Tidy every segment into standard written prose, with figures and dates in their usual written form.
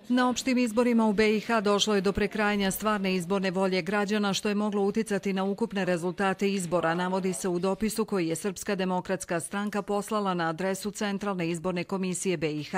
Na opštim izborima u BiH došlo je do prekrajanja stvarne izborne volje građana, što je moglo uticati na ukupne rezultate izbora, navodi se u dopisu koji je Srpska demokratska stranka poslala na adresu Centralne izborne komisije BiH.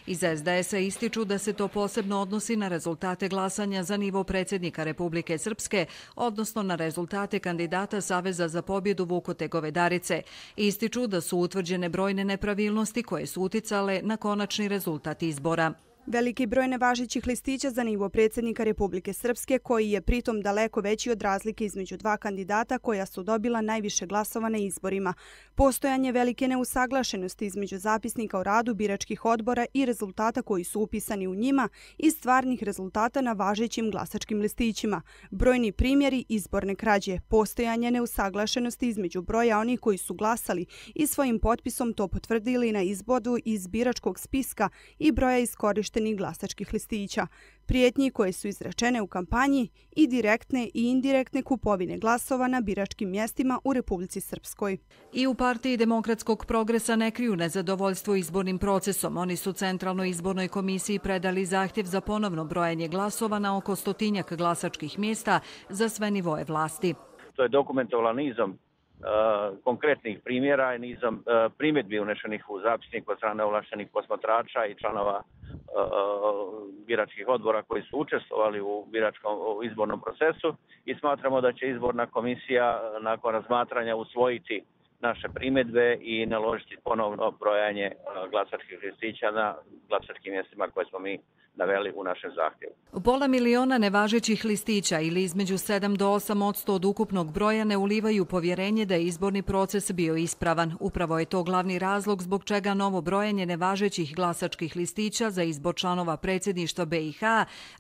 Iz SDS-a ističu da se to posebno odnosi na rezultate glasanja za nivo predsjednika Republike Srpske, odnosno na rezultate kandidata Saveza za pobjedu Vukote Govedarice. Ističu da su utvrđene brojne nepravilnosti koje su uticale na konačni rezultat izbora. Veliki broj nevažećih listića za nivo predsjednika Republike Srpske, koji je pritom daleko veći od razlike između dva kandidata koja su dobila najviše glasova na izborima. Postojanje velike neusaglašenosti između zapisnika o radu biračkih odbora i rezultata koji su upisani u njima i stvarnih rezultata na važećim glasačkim listićima. Brojni primjeri izborne krađe, postojanje neusaglašenosti između broja onih koji su glasali i svojim potpisom to potvrdili na izboru iz biračkog spiska i broja iskorištenih glasačkih listića, prijetnji koje su izrečene u kampanji i direktne i indirektne kupovine glasova na biračkim mjestima u Republici Srpskoj. I u Partiji demokratskog progresa ne kriju nezadovoljstvo izbornim procesom. Oni su Centralnoj izbornoj komisiji predali zahtjev za ponovno brojanje glasova na oko 100 glasačkih mjesta za sve nivoe vlasti. To je dokumentovalo nizom konkretnih primjera i nizom primjedbi unešenih u zapisnik od strane ovlaštenih posmatrača i članova biračkih odbora koji su učestvovali u izbornom procesu i smatramo da će izborna komisija nakon razmatranja usvojiti naše primjedbe i naložiti ponovno brojanje glasačkih listića na glasačkim mjestima koje smo mi naveli u našem zahtjevu. Pola miliona nevažećih listića ili između 7 do 8% od ukupnog broja ne ulivaju povjerenje da je izborni proces bio ispravan. Upravo je to glavni razlog zbog čega novo brojanje nevažećih glasačkih listića za izbor članova predsjedništva BiH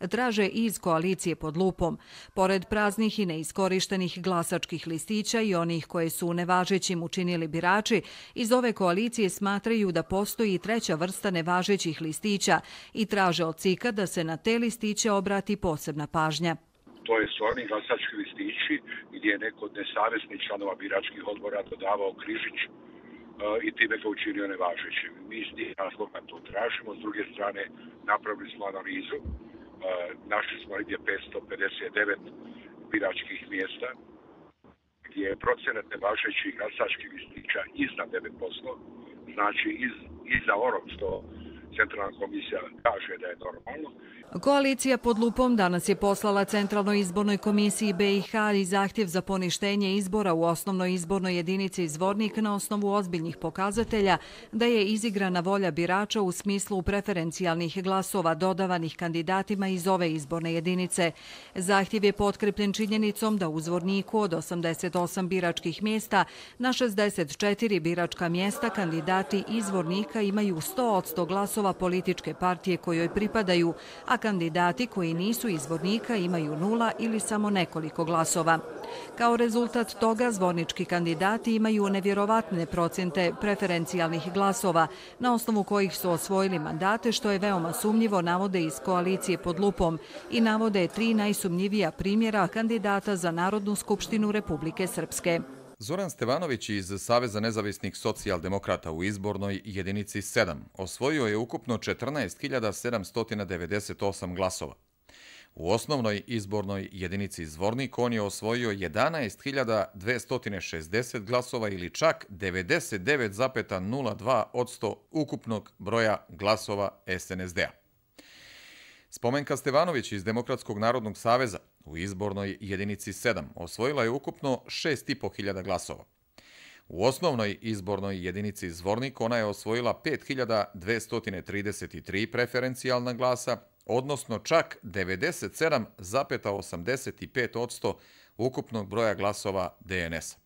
traže iz koalicije pod lupom. Pored praznih i neiskorištenih glasačkih listića i onih koje su nevažećim učinili birači, iz ove koalicije smatraju da postoji treća vrsta nevažećih listića i traže od CIK-a da se na te listiće obrati posebna pažnja. To su oni glasački listići gdje je neko od nesavjesnih članova biračkih odbora dodavao križić i time ga učinio nevažećim. Mi iz tih razloga to tražimo. S druge strane, napravili smo analizu. Našli smo negdje 559 biračkih mjesta gdje je procenat nevažećih glasačkih listića iznad 9%. Znači, iza onog što Centralna komisija kaže da je normalno. Koalicija pod lupom danas je poslala Centralnoj izbornoj komisiji BiH i zahtjev za poništenje izbora u osnovnoj izbornoj jedinici Zvornik na osnovu ozbiljnih pokazatelja da je izigrana volja birača u smislu preferencijalnih glasova dodavanih kandidatima iz ove izborne jedinice. Zahtjev je potkrepljen činjenicom da u Zvorniku od 88 biračkih mjesta na 64 biračka mjesta kandidati iz Zvornika imaju 100% glasova političke partije kojoj pripadaju, a kandidati koji nisu iz Zvornika imaju 0 ili samo nekoliko glasova. Kao rezultat toga, zvornički kandidati imaju nevjerovatne procente preferencijalnih glasova, na osnovu kojih su osvojili mandate, što je veoma sumnjivo, navode iz koalicije pod lupom i navode 3 najsumnjivija primjera kandidata za Narodnu skupštinu Republike Srpske. Zoran Stevanović iz Saveza nezavisnih socijaldemokrata u izbornoj jedinici 7 osvojio je ukupno 14.798 glasova. U osnovnoj izbornoj jedinici Zvornik on je osvojio 11.260 glasova ili čak 99,02% ukupnog broja glasova SNSD-a. Spomenka Stevanović iz Demokratskog narodnog saveza u izbornoj jedinici 7 osvojila je ukupno 6.500 glasova. U osnovnoj izbornoj jedinici Zvornik ona je osvojila 5.233 preferencijalna glasa, odnosno čak 97,85% ukupnog broja glasova DNS-a.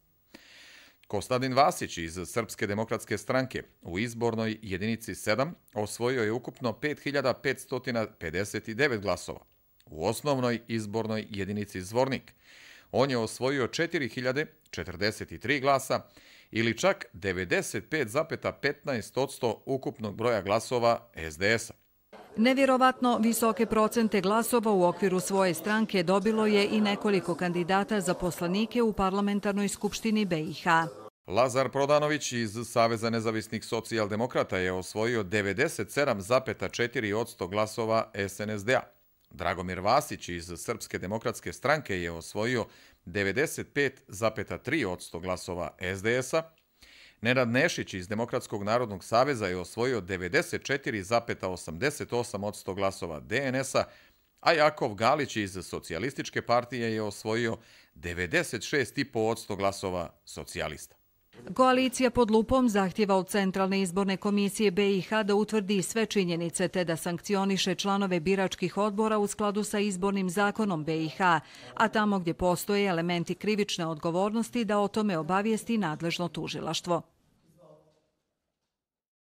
Kostadin Vasić iz Srpske demokratske stranke u izbornoj jedinici 7 osvojio je ukupno 5.559 glasova. U osnovnoj izbornoj jedinici Zvornik on je osvojio 4.043 glasa ili čak 95,15% ukupnog broja glasova SDS-a. Nevjerovatno visoke procente glasova u okviru svoje stranke dobilo je i nekoliko kandidata za poslanike u parlamentarnoj skupštini BiH. Lazar Prodanović iz Saveza nezavisnih socijaldemokrata je osvojio 97,4% glasova SNSD-a. Dragomir Vasić iz Srpske demokratske stranke je osvojio 95,3% glasova SDS-a. Nenad Nešić iz Demokratskog narodnog saveza je osvojio 94,88% glasova DNS-a, a Jakov Galić iz Socijalističke partije je osvojio 96,5% glasova socijalista. Koalicija pod lupom zahtjeva od Centralne izborne komisije BiH da utvrdi sve činjenice te da sankcioniše članove biračkih odbora u skladu sa izbornim zakonom BiH, a tamo gdje postoje elementi krivične odgovornosti da o tome obavijesti nadležno tužilaštvo.